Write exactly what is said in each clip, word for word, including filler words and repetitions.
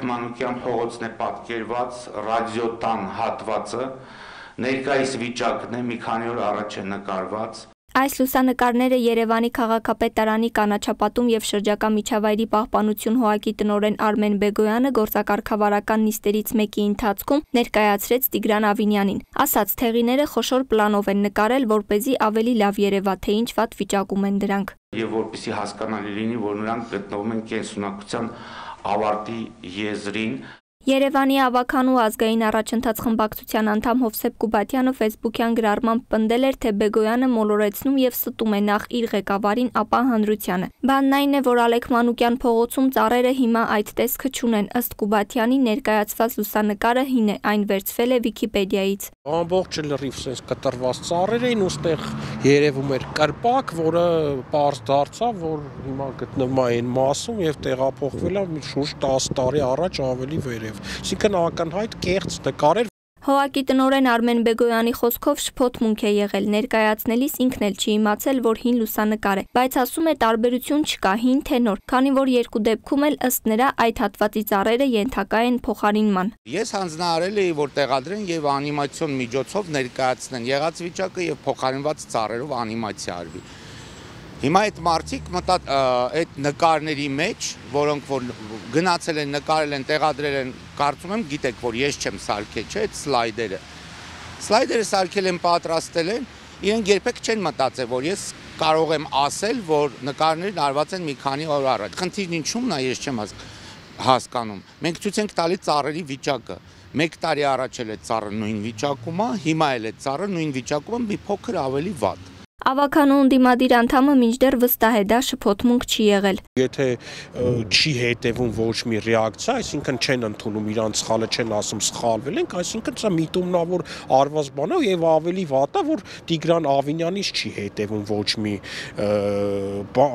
Ալեք Մանուկյան փողոցն է պատկերված ռադիոտան հատվածը, ներկայիս վիճակն է, մի քանի օր առաջ է նկարված։ Այս լուսանկարները Երևանի քաղաքապետարանի կանաչապատում եւ շրջակա միջավայրի պահպանություն հողակի տնօրեն Արմեն Բեգոյանը գործակարգավարական նիստերից մեկի ընթացքում ներկայացրեց Տիգրան Ավինյանին։ Ասաց, թեղիները խոշոր պլանով են նկարել, որպեսզի ավելի լավ երևա, թե ինչ վատ վիճակում են դրանք։ Եվ որպեսզի հասկանալի լինի, որ նրանք գտնվում են կենսունակության ավարտի եզրին։ Երևանի ավականու ազգային առաջընթաց խմբակցության անդամ Հովսեփ Կուբատյանը ֆեյսբուքյան գրառմամբ պնդել էր, թե Բեգոյանը մոլորեցնում եւ ստում է նախ իր ղեկավարին, ապա հանրությանը։ Բանն այն է, որ Ալեք Մանուկյան փողոցում ծառերը հիմա այդ տեսքը չունեն։ Ըստ Կուբատյանի ներկայացված լուսանկարը հին է, այն վերցվել է Վիկիպեդիայից։ Ամբողջ լրիվ sense կտրված ծառեր էին, ուստեղ երևում էր կրպակ, որը պարզ դարձավ, որ հիմա գտնվում է այն մասում եւ տեղափոխվել է մի շուրջ տասը տարի առաջ ավելի վեր։ Այսինքն ակնհայտ կեղծ նկարեր։ Հողակի տնօրեն Արմեն Բեգոյանի խոսքով շփոթմունք է եղել, ներկայացնելիս ինքն էլ չի իմացել, որ հին լուսանկար է, բայց ասում է տարբերություն չկա, հին թե նոր, քանի որ երկու դեպքում էլ ըստ նրա այդ հատվածի ծառերը ենթակա են փոխարինման։ Ես հանձնարարել էի, որ տեղադրեն եւ անիմացիոն միջոցով ներկայացնեն եղած վիճակը եւ փոխարինված ծառերով անիմացիա արվի։ Հիմա այդ մարդիկ մտած այդ նկարների մեջ, որոնք որ գնացել են, նկարել են, տեղադրել են, կարծում եմ գիտեք, որ ես չեմ սարքել, չէ՞, այդ սլայդերը։ Սլայդերը սարքել են, պատրաստել են, իրենք երբեք չեն մտածել, որ ես կարող եմ ասել, որ նկարներն արված են մի քանի օր առաջ։ Խնդիրն ինչումն է, ես չեմ հասկանում։ Մենք ցույց ենք տալի ծառերի վիճակը։ Մեկ տարի առաջ էլ է ծառը նույն վիճակում է, հիմա էլ է ծառը նույն վիճակում է, մի փոքր ավելի վատ։ Ավականու ընդդիմադիր անդամը մինչդեռ վստահ է, դա շփոթմունք չի եղել։ Եթե չի հետևում ոչ մի ռեակցիա, այսինքն չեն ընդունում իրանց սխալը, չեն ասում սխալվել ենք, այսինքն սա միտումնավոր արված բան է եւ ավելի վատ է, որ Տիգրան Ավինյանից չի հետևում ոչ մի,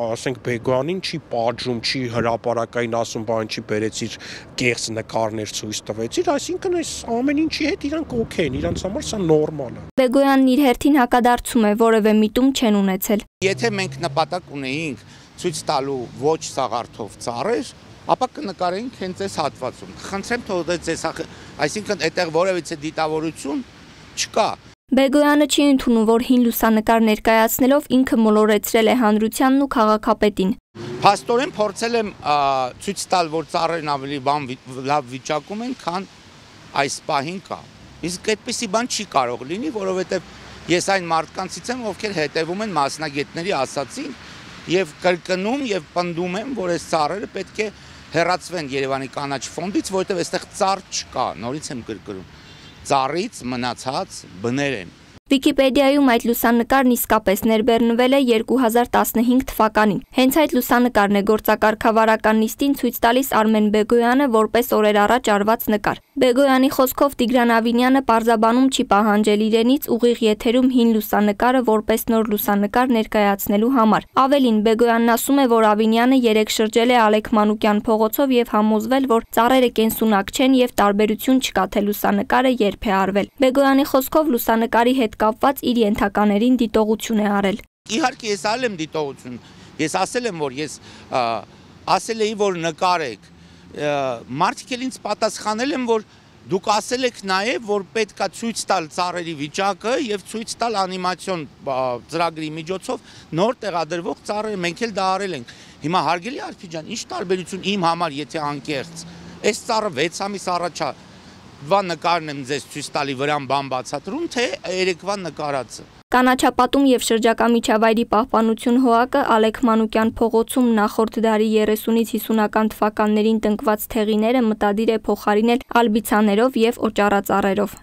ասենք Բեգոյանին չի պատժում, չի հրապարակային ասում, բան չի բերեցիր կեղծ նկարներ ցույց տվեցիր, այսինքն այս ամեն ինչի հետ իրանք օքեյ են, իրանց համար սա նորմալ է։ Բեգոյանն իր հերթին հակադարձում է, որևէ միտում չեն ունեցել։ Եթե մենք նպատակ ունեինք ցույց տալու ոչ սաղարթով ծառեր, ապա կնկարեինք հենց այս հատվածում։ Խնդրեմ թող ձեզ, այսինքն այդտեղ որևիցե դիտավորություն չկա։ Բեգոյանը չի ընդունում, որ հին լուսանկար ներկայացնելով ինքը մոլորեցրել է հանրությանն ու քաղաքապետին։ Փաստորեն փորձել եմ ցույց տալ, որ ծառերն ավելի լավ վիճակում են, քան այս պահին կա։ Իսկ այդպիսի բան չի կարող լինի, որովհետև ես այն մարդկանցից եմ, ովքեր հետևում են մասնագետների ասածին եւ կրկնում եւ պնդում եմ, որ այս ծառերը պետք է հեռացվեն Երևանի կանաչ ֆոնդից, որովհետեւ այստեղ ծառ չկա, նորից եմ կրկնում։ Ծառից մնացած բներ են։ Վիկիպեդիայում այդ լուսանկարն իսկապես ներբեռնվել է երկու հազար տասնհինգ թվականին։ Հենց այդ լուսանկարն է գործակարգավարական նիստին ցույց տալիս Արմեն Բեգոյանը որպես օրեր առաջ արված նկար։ Բեգոյանի խոսքով Տիգրան Ավինյանը պարզաբանում չի պահանջել իրենից ուղիղ եթերում հին լուսանկարը որպես նոր լուսանկար ներկայացնելու համար։ Ավելին, Բեգոյանն ասում է, որ Ավինյանը երեք շրջել է Ալեք Մանուկյան փողոցով եւ համոզվել, որ ծառերը կենսունակ չեն եւ տարբերություն չկա, թե լուսանկարը երբ է արվել։ Բեգոյանի խոսքով լուսանկարի հետ կապված իր ենթականերին դիտողություն է արել։ Իհարկե ես արել եմ դիտողություն։ Ես ասել եմ, որ ես ասել էի, որ նկարեք։ Մարդիկ էլ ինձ պատասխանել են, որ դուք ասել եք նաև, որ պետք է ցույց տալ ծառերի վիճակը եւ ցույց տալ անիմացիոն ծրագրի միջոցով նոր տեղադրվող ծառերը, մենք էլ դա արել ենք։ Հիմա հարգելի Արփի ջան, ինչ տարբերություն իմ համար, եթե անկեղծ։ Այս ծառը վեց ամիս առաջ է Վա նկարն եմ ձեզ ցույց տալի վրան բան բացատրում, թե երեկվա նկարածը։ Կանաչապատում եւ շրջակա միջավայրի պահպանություն հողակը Ալեք Մանուկյան փողոցում նախորդ դարի երեսունից հիսունական թվականներին տնկված թեղիները մտադիր է փոխարինել ալբիցաներով եւ օճառածառերով։